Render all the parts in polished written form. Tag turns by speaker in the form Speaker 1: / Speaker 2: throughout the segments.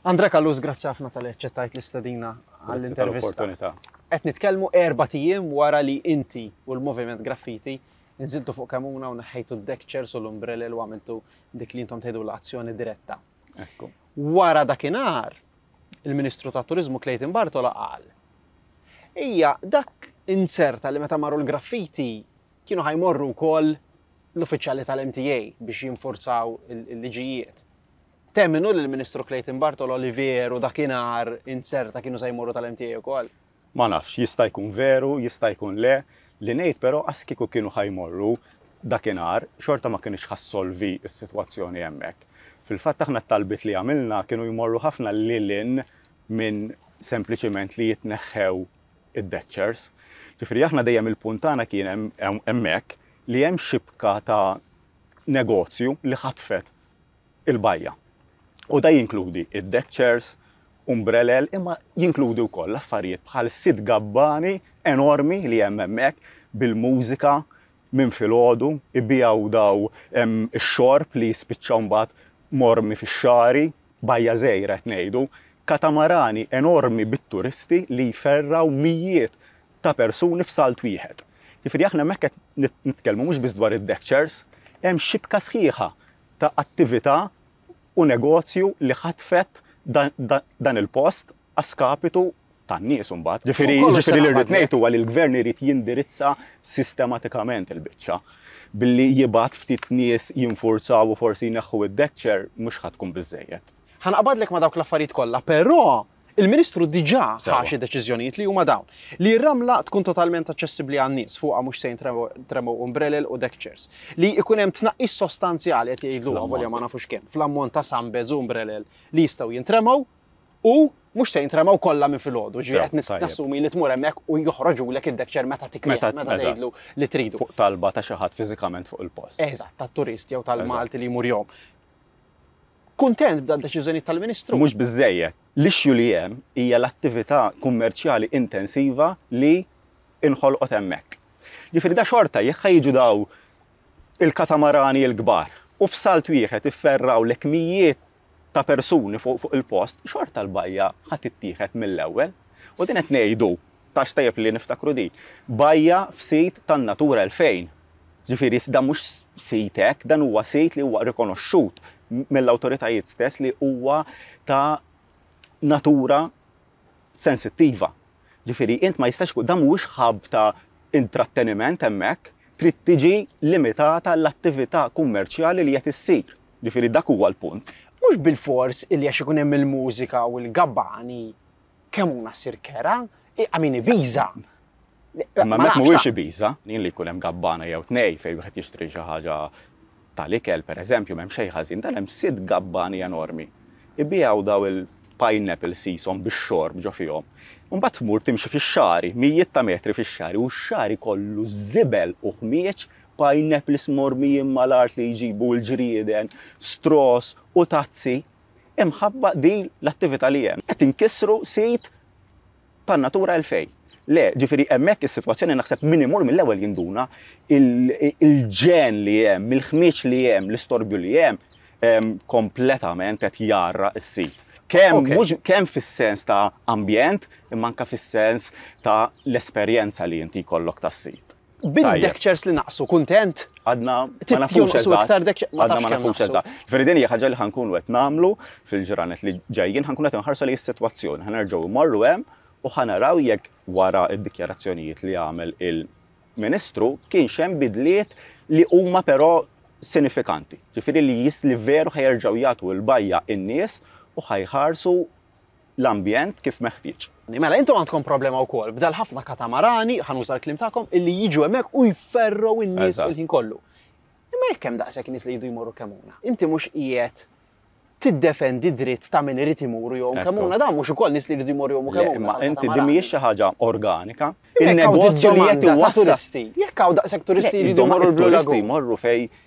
Speaker 1: André Callus, grazzi ħafna talli aċċettajt l-istedina għall-intervista. Qed nitkellmu erbat ijiem wara li inti u l-Moviment Graffiti nżiltu fuq Kemmuna u neħħejtu d-deck chairs u l-umbrella u għamiltu dik li intom tgħidu l-azzjoni diretta.
Speaker 2: Ekku.
Speaker 1: Wara dakinhar, il-Ministru tat-Turiżmu Clayton Bartola qal Ija, dak inzerta li meta marru l-graffiti kienu ħa jmorru wkoll l-uffiċjali tal-MTA biex jinfurzaw il-liġijiet. Temmnu li l-Ministru Clayton Bartolo li veru dakinhar inzerta kienu se jmorru tal-MTA wkoll?
Speaker 2: Ma nafx, jista' jkun veru, jista' jkun le. Li ngħid però qas kieku kienu ħa jmorru dakinhar, xorta ma kinitx ħa ssolvi s-sitwazzjoni hemmhekk. Fil-fatt aħna t-talbiet li għamilna kienu jmorru ħafna lil hinn minn sempliċiment li jitneħħew id-deck chairs. Ġifieri aħna dejjem il-punt tagħna kien hemmhekk li hemm xibka ta' negozju li ħatfet il-bajja. U da jinkludi id-deck chairs, umbrelel, imma jinkludi wkoll affarijiet bħal sitt gabbani enormi li hemm hemmhekk bil-mużika minn filgħodu, ibigħu daw ix-xorb li jispiċċaw mbagħad mormi fix-xagħri, bajja żgħira qed ngħidu, katamarani enormi bit-turisti li jferraw mijiet ta' persuni f'salt wieħed. Jiġifieri aħna hemmhekk qed nitkellmu mhux biss dwar id-deck chairs, hemm xibka sħiħa ta' attività u negozju li ħatfet dan il-post għas-skapitu tan-nies imbagħad. Ġifieri ġifieri li rrid ngħid huwa li l-gvern irid jindirizza sistematikament il-biċċa. Billi jibgħat ftit nies jinfurzaw u forsi jneħħu id-deck chair mhux ħa tkun biżżejjed.
Speaker 1: Ħa naqbadlek ma' dawk l-affarijiet kollha, però Il-Ministru diġà ħa xi deċiżjonijiet li huma dawn. Li r-ramla tkun totalment aċċessibbli għan-nies, fuqha mhux se jintremgħu umbrelel u deck chairs. Li jkun hemm tnaqqis sostanzjali, qed jgħidlu avolja ma nafux kemm, fl-ammont ta' sunbeds u umbrelel li jistgħu jintremgħu u mhux se jintremgħu kollha minn filgħodu, ġifieri qed nassumi li tmur hemmhekk u joħroġulek id-deck chair meta tikrih, meta tgħidlu li tridu.
Speaker 2: Fuq talba ta' xi ħadd fiżikament fuq il-post.
Speaker 1: Eżatt, tat-turist jew tal-Malti li jmur jgħum. Kuntent b'dad-deċiżjonijiet tal-Ministru?
Speaker 2: Mhux biżżejjed. L-issue li hemm hija l-attività kummerċjali intensiva li inħolqot hemmhekk. Ġifieri da xorta jekk ħa jiġu daw il-katamarani l-kbar u f'salt wieħed ifferrawlek mijiet ta' persuni fuq il-post, xorta l-bajja ħa tittieħed mill-ewwel. U din qed ngħidu, tax tajjeb li niftakru din, bajja f'sit tan-Natura 2000. Ġifieri dan mhux sit hekk, dan huwa sit li huwa rikonoxxut mill-awtoritajiet stess li huwa ta' natura sensittiva. Ġifieri int ma jistax ikun dan mhuwiex hub ta' intratteniment hemmhekk, trid tiġi limitata l-attività kummerċjali li qed issir. Ġifieri dak huwa l-punt.
Speaker 1: Mhux bilfors illi għax ikun hemm il-mużika u l-gabbani Kemmuna ssir kera, I mean Ibiza.
Speaker 2: Imma hemmhekk mhuwiex Ibiza, jien li jkun hemm gabbana jew tnej fejn wieħed jixtri xi ħaġa tal-ikel pereżempju m'hemm xejn ħażin, dan hemm sitt gabbani enormi. Ibigħu daw il-pineapple sishom bix-xorb ġo fihom. U mbagħad tmur timxi fix-xagħri, mijiet ta' metri fix-xagħri u x-xagħri kollu żibel u ħmieġ, pineapples mormijin mal-art li jġibu l-ġrieden, straws u tazzi. Imħabba din l-attività li hemm. Qed inkissru sit tan-Natura 2000. Le, ġifieri hemmhekk is-sitwazzjoni naħseb min imur mill-ewwel jinduna il-ġenn li hemm, il-ħmieġ li hemm, l-istorbju li hemm kompletament qed jgħarraq is-sit. Kemm mhux kemm fis-sens ta' ambjent imma anke fis-sens ta' l-esperjenza li inti jkollok tas-sit.
Speaker 1: Bid-deck chairs li naqsu, kuntent?
Speaker 2: Għadna ma nafux eżatt. Għadna ma nafux eżatt. Ġifieri din hija ħaġa li ħa nkunu qed nagħmlu fil-ġranet li ġejjin, ħa nkunu qed inħarsu lejn is-sitwazzjoni, ħa nerġgħu mmorru hemm u ħa naraw jekk wara d-dikjarazzjonijiet li għamel il-Ministru kienx hemm bidliet li huma però sinifikanti. Ġifieri li li veru ħa jerġgħu jagħtu l-bajja in-nies u ħa jħarsu l-ambjent kif meħtieġ.
Speaker 1: Mela intom għandkom problema wkoll b'dal-ħafna katamarani, ħa nuża l-kliem tagħkom, illi jiġu hemmhekk u jferrgħu n-nies il-ħin kollu. Imma jekk hemm daqshekk nies li jridu jmorru Kemmuna, inti mhux qiegħed tiddefendi d-dritt ta' min irid imur jgħum Kemmuna, dan mhux ukoll nies li jridu jmorru jgħumu Kemmuna.
Speaker 2: Imma inti din mhijiex xi ħaġa organika. In-negozju li qed iwassal.
Speaker 1: Jekk hawn daqshekk turisti jridu jmorru l-Blue Lagoon.
Speaker 2: Turisti jmorru fejn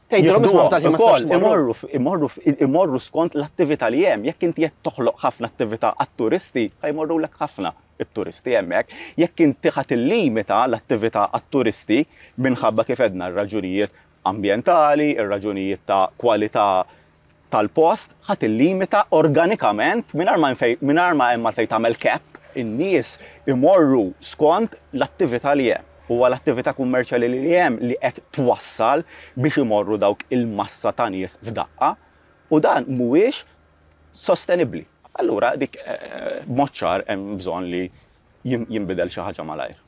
Speaker 1: Tgħidilhom isma' f'dal-ħin ma tistax
Speaker 2: tmorru. Imorru, imorru skont l-attività li hemm. Jekk inti qed toħloq ħafna attività għat-turisti, ħa jmorrulek ħafna t-turisti hemmhekk. Jekk inti ħa tillimita l-attività għat-turisti minħabba kif għedna r-raġunijiet ambjentali, ir-raġunijiet ta' kwalità tal-post ħa tillimita organikament mingħajr ma mingħajr ma hemm għalfejn tagħmel cap, in-nies imorru skont l-attività li hemm. Huwa l-attività kummerċjali li hemm li qed twassal biex imorru dawk il-massa ta' nies f'daqqa u dan mhuwiex sostenibbli. Allura dik b'mod ċar hemm bżonn li jinbidel xi ħaġa malajr.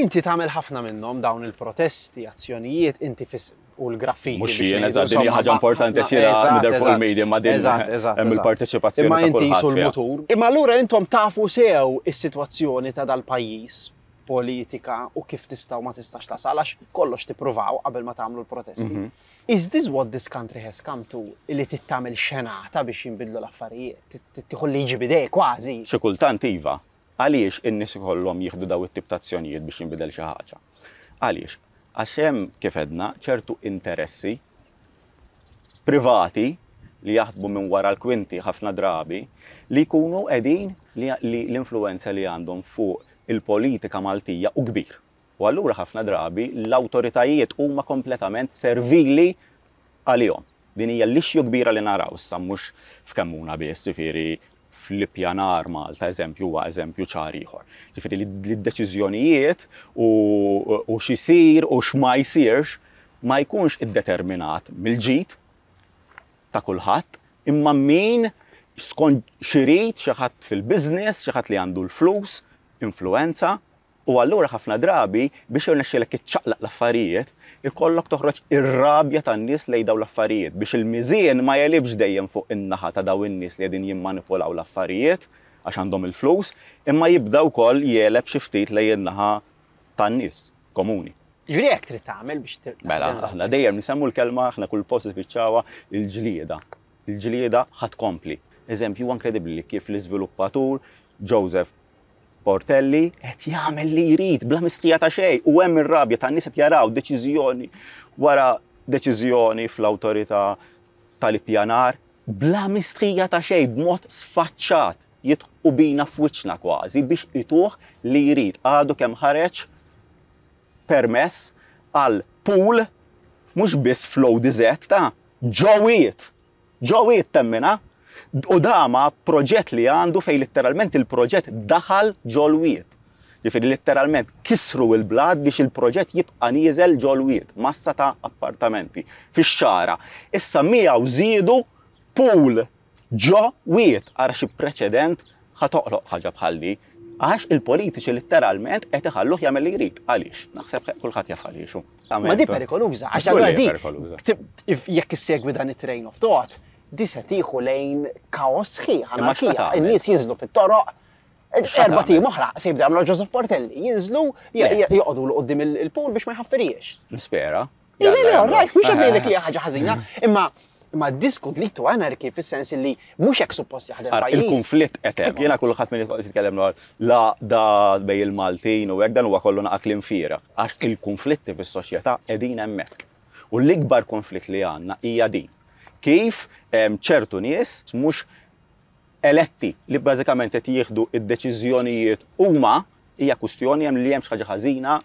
Speaker 1: Inti tagħmel ħafna minnhom dawn il-protesti, azzjonijiet, inti fis u l-graffiti.
Speaker 2: Mhux jien, eżatt, din hija ħaġa importanti għax jiena nidher fuq il-media ma din hemm il-parteċipazzjoni
Speaker 1: ta' kulħadd. Imma inti qisu l-mutur. Imma allura intom tafu sew is-sitwazzjoni ta' dal-pajjiż, politika u kif tista' u ma tistax tasal għax kollox tippruvaw qabel ma tagħmlu l-protesti. Is this what this country has come to li trid tagħmel xenata biex jinbidlu l-affarijiet? Trid tieħu l-liġi b'idejk kważi?
Speaker 2: Xi kultant iva. Għaliex in-nies ikollhom jieħdu dawn it-tip ta' azzjonijiet biex jinbidel xi ħaġa? Għaliex? Għax hemm, kif għedna, ċertu interessi privati li jaħdmu minn wara l-kwinti ħafna drabi li jkunu qegħdin li l-influwenza li għandhom fuq il-politika Maltija hu kbir. U allura ħafna drabi l-awtoritajiet huma kompletament servili għalihom. Din hija l-issue kbira li naraw issa mhux f'Kemmuna biss, jiġifieri fl-ippjanar Malta eżempju huwa eżempju ċar ieħor. Jiġifieri li d-deċiżjonijiet u x'isir u x'ma jsirx ma jkunx iddeterminat mill-ġid ta' kulħadd, imma min skont x'irid xi ħadd fil-business, xi ħadd li għandu l-flus, influwenza, U allura ħafna drabi biex jirnexxilek iċċaqlaq l-affarijiet, ikollok toħroġ ir-rabja tan-nies lejn dawn l-affarijiet biex il-miżien ma jegħlibx dejjem fuq in-naħa ta' dawn in-nies li qegħdin jimmanipulaw l-affarijiet għax għandhom il-flus, imma jibda wkoll jegħleb xi ftit lejn in-naħa tan-nies komuni.
Speaker 1: Jiġifieri hekk trid tagħmel biex
Speaker 2: tagħmel. Mela, aħna dejjem nsemmu l-kelma, aħna kull post nispiċċawha, il-ġlieda. Il-ġlieda ħa tkompli. Eżempju, huwa inkredibbli li kif l-iżviluppatur Joseph Portelli qed jagħmel li jrid bla mistħija ta' xejn u hemm ir-rabja tan-nies qed jaraw deċiżjoni wara deċiżjoni fl-awtorità tal-ippjanar bla mistħija ta' xejn b'mod sfaċċat jidħqu bina f'wiċċna kważi biex ituh li jrid. Għadu kemm ħareġ permess għal pool mhux biss fl-ODZ ta' ġo wied. Ġo wied temminha? U da ma proġett li għandu fejn litteralment il-proġett daħal ġol-wied. Ġifieri litteralment kissru l-blat biex il-proġett jibqa' nieżel ġol-wied, massa ta' appartamenti fix-Xagħra. Issa miegħu żiedu pool ġo wied. Ara xi preċedent ħa toqloq ħaġa bħal di. Għax il-politiċi litteralment qed iħalluh jagħmel li jrid. Għaliex? Naħseb kulħadd jaf għaliex hu.
Speaker 1: Ma di perikoluża, għax allura di jekk issegwi dan it-train of thought, di se tieħu lejn kaos sħiħ, anarkija, in-nies jinżlu fit-toroq, Erbat ijiem oħra se jibda jagħmlu Joseph Portelli, jinżlu joqogħdu l qudiem il-pool biex ma jħaffiriex.
Speaker 2: Nispera.
Speaker 1: Le, le, all right, mhux qed ngħidlek li hija ħaġa ħażina, imma imma this could lead to anarchy fis-sens li mhux hekk suppost jaħdem pajjiż.
Speaker 2: Il-konflitt qed hemm. Jiena kulħadd min jitkellem dwar l-għaqda bejn il-Maltin u hekk dan huwa kollu naqa' kliem fieragħ għax il-konflitti fis-soċjetà qegħdin hemmhekk. U l-ikbar konflitt li għandna hija din. Kif ċertu nies mhux eletti li bażikament qed jieħdu d-deċiżjonijiet huma hija kwistjoni hemm li hemm xi ħaġa ħażina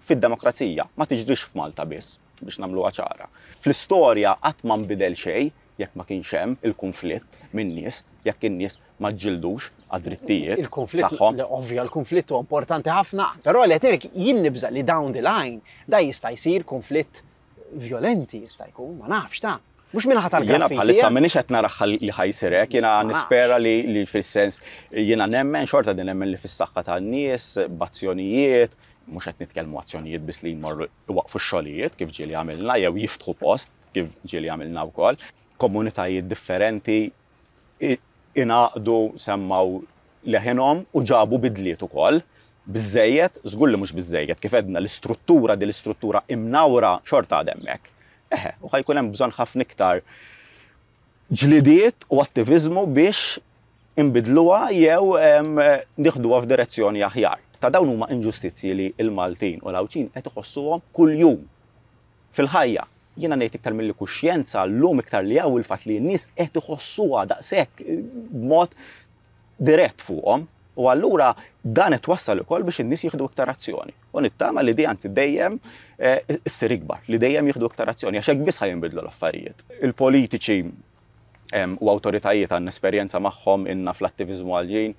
Speaker 2: fid-demokrazija. Ma tiġrix f'Malta biss, biex nagħmluha ċara. Fl-istorja qatt ma nbidel xejn jekk ma kienx hemm il-kunflitt min-nies, jekk in-nies ma ġġildux għad-drittijiet
Speaker 1: tagħhom. Ovvja, il-kunflitt huwa importanti ħafna, però li qed ngħidlek jien nibża' li down the line da jista' jsir kunflitt vjolenti jista' jkun, ma nafx ta'. Mhux minħa tal-graffiti.
Speaker 2: Jiena bħalissa m'iniex qed naraha li ħa jsir hekk, jiena nispera li li fis-sens jiena nemmen xorta din nemmen li fis-saħħa tan-nies b'azzjonijiet, mhux qed nitkellmu azzjonijiet biss li jmorru iwaqqfu x-xogħlijiet kif ġieli għamilna jew jiftħu post kif ġieli għamilna wkoll. Komunitajiet differenti ingħaqdu, semmgħu leħinhom u ġabu bidliet ukoll. Biżżejjed? Żgur li mhux biżżejjed. Kif għedna, l-istruttura, din l-istruttura imnawra xorta għadha hemmhekk. Eħe, u ħa jkun hemm bżonn ħafna iktar ġlidiet u attiviżmu biex inbiddluha jew nieħduha f'direzzjoni aħjar. Ta' dawn huma inġustizzji li l-Maltin u l-Għawdxin qed iħossuhom kuljum fil-ħajja. Jiena ngħid iktar milli kuxjenza llum iktar li hawn il-fatt li n-nies qed iħossuha daqshekk b'mod dirett fuqhom. U allura dan qed twassal ukoll biex in-nies jieħdu iktar azzjoni. U nittama li di anzi dejjem eh, issir ikbar, li dejjem jieħdu iktar azzjoni, għax hekk biss ħa jinbidlu l-affarijiet. Il-politiċi u awtoritajiet għandna esperjenza magħhom inna fl-attiviżmu għal-ġin,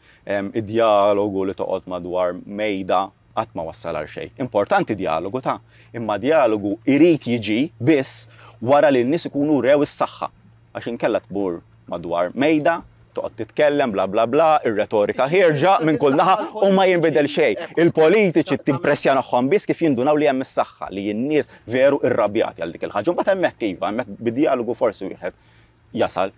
Speaker 2: id-dialogu li toqgħod madwar mejda qatt ma wassal għal xejn. Importanti dialogu ta' imma dialogu irid jiġi biss wara li n-nies ikunu rew is-saħħa. Għax inkella tmur madwar mejda, toqgħod titkellem bla bla bla, ir-retorika ħierġa minn kull naħa u ma jinbidel xejn. Il-politiċi timpressjanahom biss kif jindunaw li hemm is-saħħa, li n-nies veru irrabjati għal dik il-ħaġa. Mbagħad hemmhekk iva, hemmhekk bid-dialogu forsi wieħed jasal.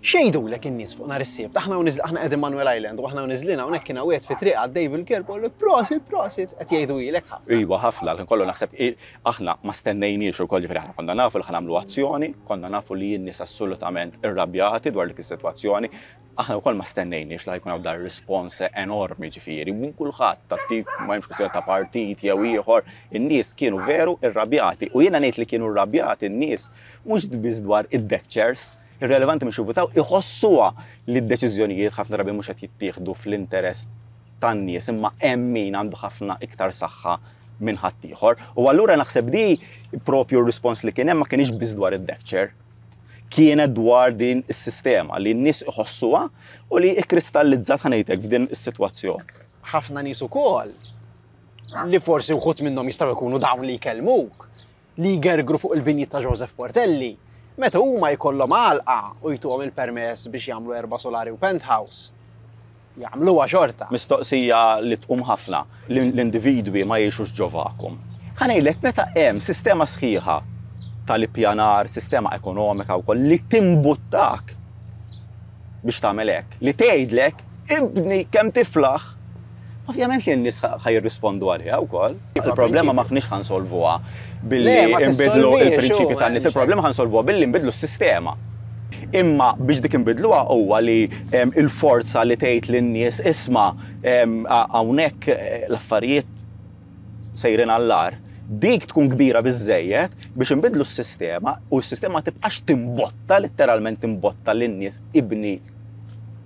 Speaker 1: X'jgħidulek in-nies fuq nhar is-Sibt? Aħna aħna qegħdin Manuel Island u aħna niżlin hawnhekk kien hawn fi triq għaddej bil-kelb u prosit, prosit, qed jgħidulek
Speaker 2: ħafna. Iva ħafna, l kollu naħseb aħna ma stennejniex ukoll ġifieri aħna konna nafu li ħa nagħmlu azzjoni, konna nafu li n-nies assolutament irrabjati dwar dik is-sitwazzjoni. Aħna wkoll ma stennejniex li jkun hawn dar rispons enormi ġifieri minn kulħadd ta' tip ma hemmx kwistjoni ta' partit jew ieħor, in-nies kienu veru irrabjati u jiena ngħid li kienu rrabjati n-nies mhux biss dwar id-deck chairs, irrelevanti mhux jivvutaw, iħossuha li d-deċiżjonijiet ħafna drabi mhux qed jittieħdu fl-interess tan-nies imma hemm min għandu ħafna iktar saħħa minn ħaddieħor. U allura naħseb di propju r-rispons li kien hemm ma kienx biss dwar id-deck chair. Kienet dwar din is-sistema li n-nies iħossuha u li ikristallizzat ħa ngħidlek f'din is-sitwazzjoni.
Speaker 1: Ħafna nies ukoll li forsi wħud minnhom jistgħu jkunu dawn li jkellmuk, li jgergru fuq il-binjiet ta' Joseph Portelli, meta huma jkollhom għalqa u jtuhom il-permess biex jagħmlu erba' solari u penthouse, jagħmluha xorta.
Speaker 2: Mistoqsija li tqum ħafna, l-individwi ma jgħixux ġo vacuum. Ħa ngħidlek, meta hemm sistema sħiħa tal-ippjanar, sistema ekonomika wkoll li timbuttak biex tagħmel hekk, li tgħidlek ibni kemm tiflaħ, ovvjament li n-nies ħa jirrispondu għaliha wkoll. Il-problema m'aħniex ħa nsolvuha billi nbidlu l-prinċipji tan-nies, il-problema ħa nsolvuha billi nbidlu s-sistema. Imma biex dik inbidluha huwa li il-forza li tgħid lin-nies isma' hawnhekk l-affarijiet sejrin għall-agħar, dik tkun kbira biżżejjed biex inbiddlu s-sistema u s-sistema ma tibqax timbotta, litteralment timbotta lin-nies ibni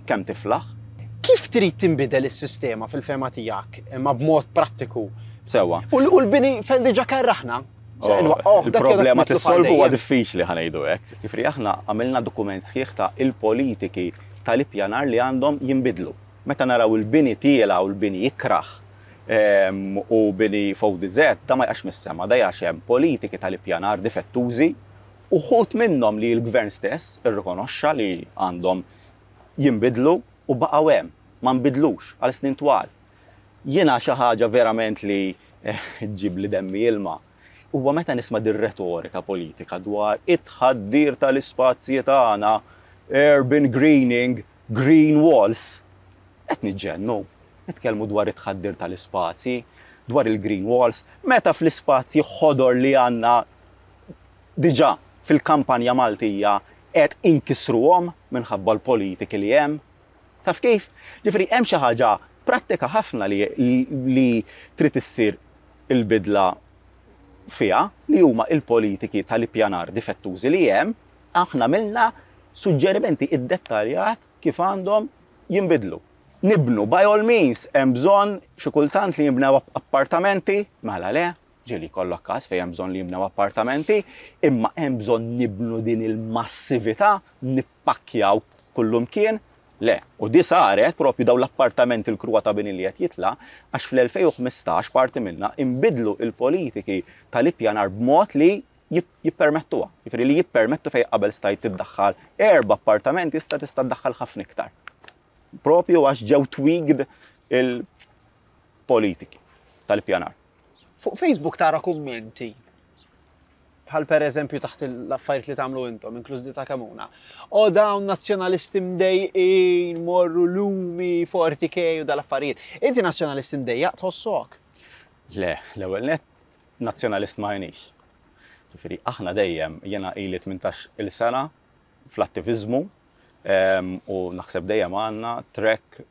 Speaker 2: kemm tiflaħ.
Speaker 1: Kif trid tinbidel is-sistema fil-fehma tiegħek, imma b'mod prattiku?
Speaker 2: Sewwa.
Speaker 1: U l-bini fejn diġà kerraħna.
Speaker 2: Oh, il-problema tissolvu huwa diffiċli ħa ngħidu hekk. Ġifieri aħna għamilna dokument sħiħ ta' il-politiki tal-ippjanar li għandhom jinbidlu. Meta naraw il-bini tiela' u l-bini ikrah u bini f'ODZ, da ma jaqax mis-sema, da għax hemm politiki tal-ippjanar difettużi, uħud minnhom li l-gvern stess irrikonoxxa li għandhom jinbidlu u baqgħu hemm, ma nbidlux għal snin twal. Jiena xi ħaġa verament li ġġibli demmi ilma huwa meta nisma' dir-retorika politika dwar it-tħaddir tal-ispazji tagħna, urban greening, green walls. Qed niġġennu. Nitkellmu dwar it-tħaddir tal-ispazji, dwar il-green walls, meta fl-ispazji ħodor li għandna diġà fil-kampanja Maltija qed inkissruhom minħabba l-politiki li hemm. Taf kif? Ġifieri hemm xi ħaġa prattika ħafna li, li trid issir il-bidla fiha li huma il-politiki tal-ippjanar difettużi li hemm, aħna għamilna suġġerimenti iddettaljat kif għandhom jinbidlu. Nibnu, by all means, hemm bżonn xi kultant li jinbnew appartamenti, mela le, ġieli jkollok każ fejn hemm bżonn li jinbnew appartamenti, imma hemm bżonn nibnu din il-massività, nippakkjaw kullumkien, le. U di saret propju dawn l-appartamenti l-kruha ta' bini li qed jitla' għax fl-2015 parti minnha inbidlu il-politiki tal-ippjanar b'mod li jippermettuha. Jiġifieri li jippermettu fejn qabel stajt tiddaħħal erba' appartamenti issa tista' ddaħħal ħafna iktar. Propju għax ġew tweaked il-politiki tal-ippjanar.
Speaker 1: Fuq Facebook tara kummenti bħal per eżempju taħt l-affarijiet li tagħmlu intom, inkluż di ta' Kemuna. O dawn nazzjonalisti mdejqin, morru lumi, 40k u dal-affarijiet. Inti nazzjonalisti mdejjaq tħossok?
Speaker 2: Le, l-ewwel nett nazzjonalist ma jienix. Ġifieri aħna dejjem, jiena ili 18-il sena fl-attiviżmu u naħseb dejjem għandna track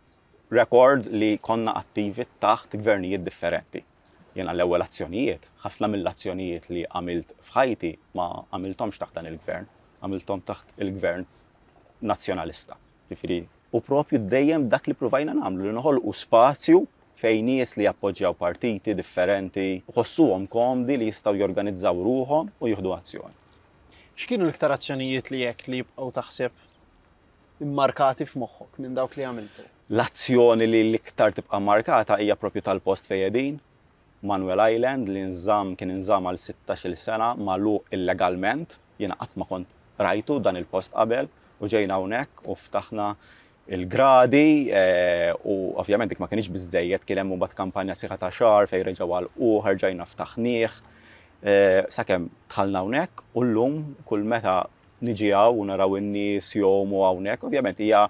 Speaker 2: record li konna attivi taħt gvernijiet differenti. Jiena l-ewwel azzjonijiet, ħafna mill-azzjonijiet li għamilt f'ħajti ma għamilthomx taħt dan il-gvern, għamilthom taħt il-gvern nazzjonalista. Ġifieri. U propju dejjem dak li pruvajna nagħmlu li noħolqu spazju fejn nies li jappoġġjaw partiti differenti jħossuhom komdi li jistgħu jorganizzaw ruħhom u jieħdu azzjoni.
Speaker 1: X'kienu l-iktar azzjonijiet li hekk li jibqgħu taħseb immarkati f'moħħok minn dawk li għamiltu?
Speaker 2: L-azzjoni li l-iktar tibqa' mmarkata hija propju tal-post fejn qegħdin, Manuel Island li nżamm kien inżamm għal sittax-il sena magħluq illegalment. Jiena qatt ma kont rajtu dan il-post qabel u ġejna hawnhekk u ftaħna l-gradi u ovvjament dik ma kinitx biżżejjed, kien hemm imbagħad kampanja sħiħa ta' xahar fejn reġgħu għalquh, erġajna ftaħnieh sakemm dħalna hawnhekk u llum kull meta niġi hawn u naraw in-nies jgħumu hawnhekk, ovvjament hija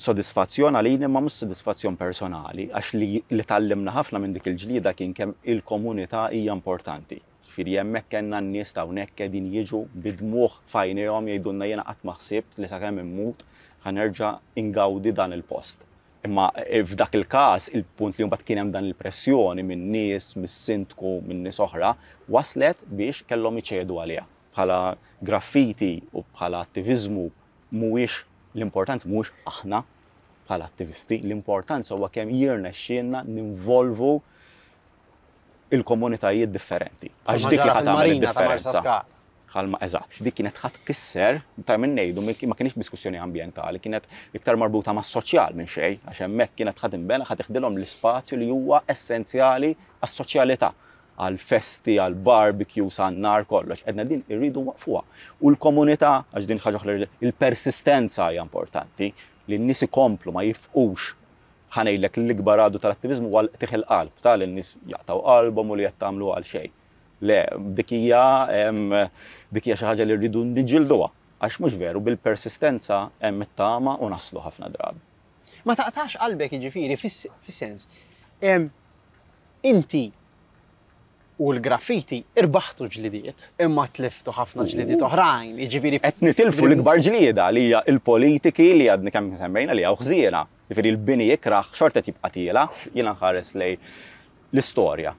Speaker 2: sodisfazzjon għalina imma mhux sodisfazzjon personali għax li li tgħallimna ħafna minn dik il-ġlieda kien kemm il-komunità hija importanti. Ġifieri hemmhekk kellna n-nies ta' hawnhekk qegħdin jiġu bid-dmugħ f'għajnejhom jgħidulna jiena qatt ma ħsibt li sakemm immut ħa nerġa' ingawdi dan il-post. Imma f'dak il-każ il-punt li mbagħad kien hemm dan il-pressjoni min-nies, mis-sindku, minn nies oħra waslet biex kellhom iċedu għaliha. Bħala graffiti u bħala attiviżmu mhuwiex l-importanza mhuwiex aħna bħala attivisti, l-importanza huwa kemm jirnexxielna ninvolvu il-komunitajiet differenti.
Speaker 1: Għax dik li ħa tagħmel id-differenza.
Speaker 2: Bħalma eżatt, dik kienet ħa tkisser, ta' min ngħidu ma kienx diskussjoni ambjentali, kienet iktar marbuta mas-soċjal minn xejn, għax hemmhekk kienet ħa tinbena ħa tiħdilhom l-ispazju li huwa essenzjali għas-soċjalità. għall-festi, għall-barbecues, għan-nar, kollox. Għedna din irridu nwaqqfuha. U l-komunità, għax din ħaġa oħra, il-persistenza hija importanti, li n-nies ikomplu ma jifqux. Ħa ngħidlek l-ikbar għadu tal-attiviżmu huwa l-qtigħ il-qalb, ta' li n-nies jaqtgħu qalbhom u li qed tagħmlu għal xejn. Le, dik hija dik hija xi ħaġa li rridu niġġielduha. Għax mhux veru, bil-persistenza hemm it-tama u naslu ħafna drabi.
Speaker 1: Ma taqtax qalbek jiġifieri fis-sens. Inti u l-graffiti irbaħtu ġlidiet, imma tliftu ħafna ġlidiet oħrajn, jiġifieri.
Speaker 2: Qed nitilfu l-ikbar ġlieda li hija l-politiki li għadni kemm semmejna li hawn ħżiena. Jiġifieri l-bini ikrah xorta qed jibqa' tiela', jiena nħares lejn l-istorja.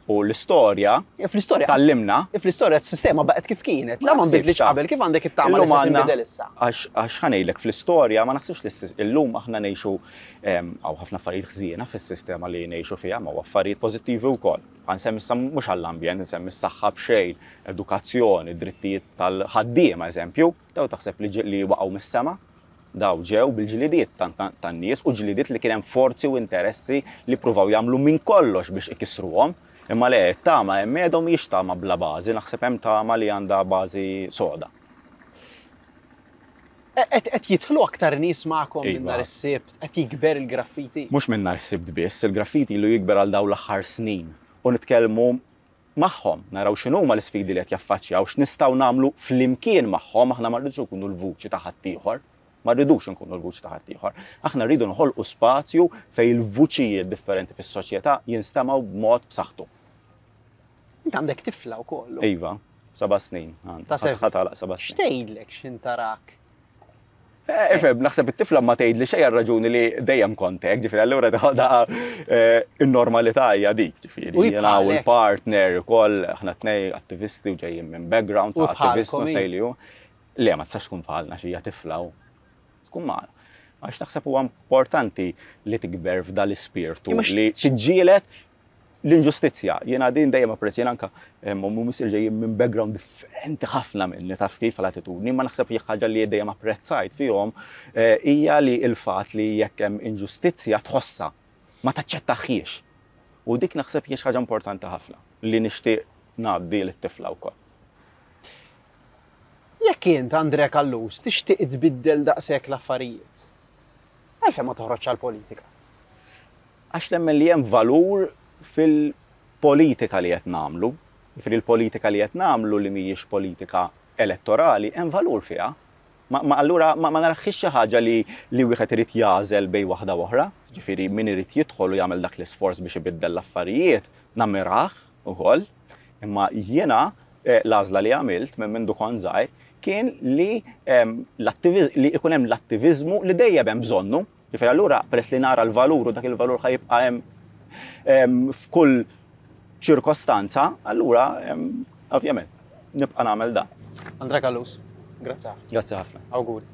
Speaker 2: U l-istorja
Speaker 1: Fl-istorja
Speaker 2: tgħallimna.
Speaker 1: Fl-istorja s-sistema baqgħet kif kienet, la ma nbidlitx qabel, kif għandek it-tama li se tinbidel issa?
Speaker 2: Għax ħa ngħidlek fl-istorja ma naħsibx li llum aħna ngħixu hawn ħafna affarijiet ħżiena fis-sistema li ngħixu fiha, ma hawn affarijiet pożittivi wkoll. Ħa nsemmi issa mhux għall-ambjent, insemmi s-saħħa b'xejn, edukazzjoni, drittijiet tal-ħaddiema eżempju, dawn taħseb li waqgħu mis-sema? Dawn ġew bil-ġlidiet tan-nies u ġlidiet li kien hemm forzi u interessi li ppruvaw jagħmlu minn kollox biex ikissruhom. Imma le, it-tama hemm qiegħda u mhijiex tama bla bażi, naħseb hemm tama li għandha bażi soda.
Speaker 1: Qed jidħlu aktar nies magħkom minn nhar is-Sibt? Qed jikber il-graffiti?
Speaker 2: Mhux minn nhar is-Sibt biss, il-graffiti ilu jikber għal dawn l-aħħar snin u nitkellmu magħhom, naraw x'inhuma l-isfidi li qed jaffaċċjaw, x'nistgħu nagħmlu flimkien magħhom, aħna ma rridux inkunu l-vuċi ta' ħaddieħor, ma rridux inkunu l-vuċi ta' ħaddieħor. Aħna rridu noħolqu spazju fejn il-vuċijiet differenti fis-soċjetà jinstemgħu b'mod b'saħħtu.
Speaker 1: Int għandek tifla wkoll.
Speaker 2: Iva, seba' snin.
Speaker 1: Ta' seba'.
Speaker 2: Ħa tagħlaq seba' snin.
Speaker 1: X'tgħidlek x'int tarak?
Speaker 2: Eh, ifhem, naħseb it-tifla ma tgħidli xejn għar-raġuni li dejjem kont hekk, ġifieri allura teħodha eh, in-normalità hija dik, ġifieri. Jiena u l-partner ukoll aħna tnej attivisti u ġejjin minn background ta' attivisti tnej li hu. Le, ma tistax tkun bħalna xi hija tifla u tkun magħna. Għax naħseb huwa importanti li tikber f'dal-ispirtu li tiġġieled L-inġustizzja, jiena din dejjem apprezz, jiena anka ommi u missieri ġejjin minn background differenti ħafna minni taf kif għal-attitudni, imma naħseb hi ħaġa li dejjem apprezzajt fihom hija li l-fatt li jekk hemm inġustizzja tħossha, ma taċċettahiex. U dik naħseb hija xi ħaġa importanti ħafna li nixtieq ngħaddi lit-tifla wkoll.
Speaker 1: Jekk int, Andrea Callus, tixtieq tbiddel daqshekk l-affarijiet, għalfejn ma toħroġx għall-politika?
Speaker 2: Għax nemmen li hemm valur fil-politika li qed nagħmlu. Jiġifieri l-politika li qed nagħmlu li mhijiex politika elettorali hemm valur fiha. Ma, ma allura ma, ma naraħħiex xi ħaġa li, li wieħed irid jagħżel bejn waħda u oħra. Jiġifieri min irid jidħol u jagħmel dak l-isforz biex ibiddel l-affarijiet, nammirah ukoll. Imma jiena eh, l-għażla li għamilt minn mindu kont żgħir kien li, ehm, li ikun hemm l-attiviżmu li dejjem hemm bżonnu. Ġifieri allura peress li nara l-valur u dak il-valur ħa jibqa' hemm f'kull ċirkostanza, allura ovvjament nibqa' nagħmel dan.
Speaker 1: Andrea Callus, grazzi ħafna.
Speaker 2: Grazzi ħafna.
Speaker 1: Awguri.